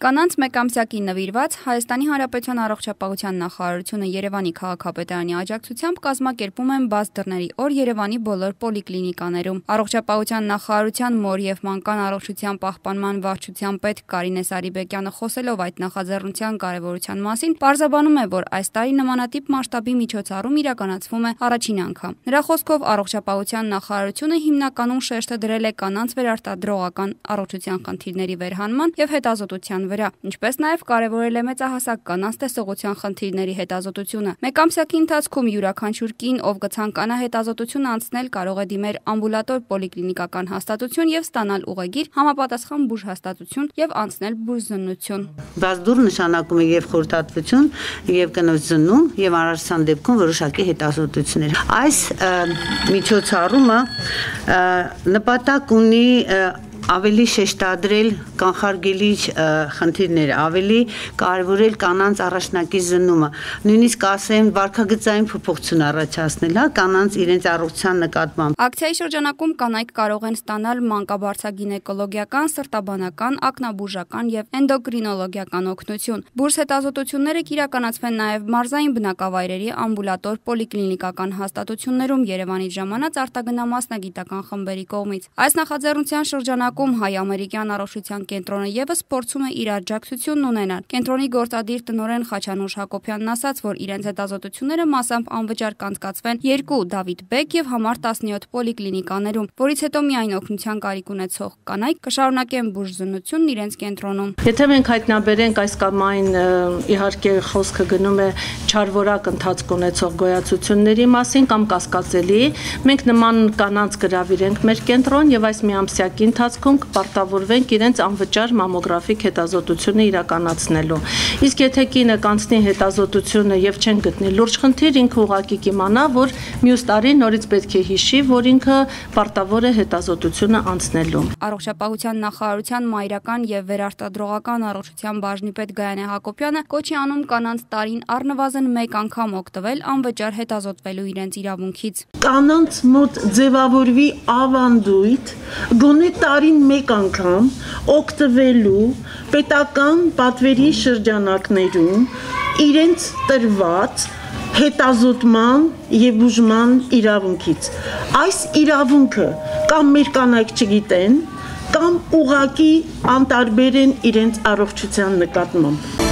Կանանց մեկամսյակին նվիրված Հայաստանի Հանրապետության առողջապահության նախարարությունը Երևանի քաղաքապետարանի աջակցությամբ կազմակերպում են բաց դռների օր Երևանի բոլոր պոլիկլինիկաներում։ Առողջապահության նախարարության մոր և մանկան առողջության պահպանման վարչության պետ Կարինե Սարիբեկյանը խոսելով այդ նախաձեռնության կարևորության մասին, պարզաբանում է, որ այս տարի նմանատիպ մասշտաբի միջոցառում իրականացվում է առաջին անգամ։ Նրա խոսքով առողջապահության նախարարությունը հիմնականում շեշտը դրել է կանանց վերարտադրողական առողջության խնդիրների վերհանման և հետազոտության վրա, ինչպես նաև կարևորել է մեծահասակ կանանց տեսողության խնդիրների հետազոտությունը։ Մեկամսյակի ընթացքում յուրաքանչյուր կին, ով կցանկանա հետազոտություն անցնել, կարող է դիմել ամբուլատոր պոլիկլինիկական հաստատություն և ստանալ ուղեգիր, համապատասխան բուժհաստատություն և անցնել բուժզննություն։ Բաց դուռ նշանակում է և խորհրդատվություն, և կնոջ զննում, և անհրաժեշտության դեպքում որոշակի հետազոտություններ։ Այս միջոցառումը նպատակ ունի ավելի շեշտադրել կանխարգելիչ խնդիրները, ավելի կարևորել կանանց առաջնակի զննումը, նույնիսկ ասեմ վարքագծային փոփոխություն առաջացնել, կանանց իրենց առողջության նկատմամբ։ Ակցիայի շրջանակում կանայք կարող են ստանալ մանկաբարձագինեկոլոգիական, սրտաբանական, ակնաբուժական և էնդոկրինոլոգիական օգնություն։ Բուրս հետազոտությունները կիրականացվեն նաև մարզային բնակավայրերի ամբուլատոր պոլիկլինիկական հաստատություններում Երևանից ժամանած արտագնա մասնագիտական խմբերի կողմից։ Այս նախաձեռնության շրջանակում Հայ-ամերիկյան առողջության կենտրոնը ևս փորձում է իր աջակցությունն ունենալ։ Կենտրոնի գործադիր տնօրեն Խաչանուշ Հակոբյանն ասաց, որ իրենց հետազոտությունները մասամբ անվճար կանցկացվեն 2 Դավիթ Բեկ և համար 17 պոլիկլինիկաներում, որից հետո միայն օգնության կարիք ունեցող կանայք կշարունակեն բուժզննությունն իրենց կենտրոնում։ Եթե մենք հայտնաբերենք այս կամ այն, իհարկե խոսքը գնում է չարվորակ ընթացք ունեցող գոյացությունների մասին կամ կասկածելի, մենք նման կանանց գրավիրենք մեր կենտրոն եւ այս միամսյակի ընթացքում կպարտավորվենք իրենց անվճար մամոգրաֆիկ հետազոտությունը իրականացնելու։ Իսկ եթե կինը կանցնի հետազոտությունը եւ չեն գտնի լուրջ խնդիր, ինքը ուղղակի կիմանա, որ մյուս տարի նորից պետք է հիշի, որ ինքը պարտավոր է հետազոտությունը անցնելու։ Առողջապահության նախարարության մայրական եւ վերարտադրողական առողջության բաժնի պետ Գայանե Հակոբյանը կոչի անում կանանց տարին առնվազն 1 անգամ օգտվել անվճար հետազոտվելու իրենց իրավունքից։ Կանանց մոտ ձևավորվի ավանդույթ գոնե տարին 1 անգամ օգտվելու պետական պատվերի շրջանակներում իրենց տրված հետազոտման եւ բուժման իրավունքից։ Այս իրավունքը կամ մեր կանայք չգիտեն, կամ ուղղակի անտարբեր են իրենց առողջության նկատմամբ։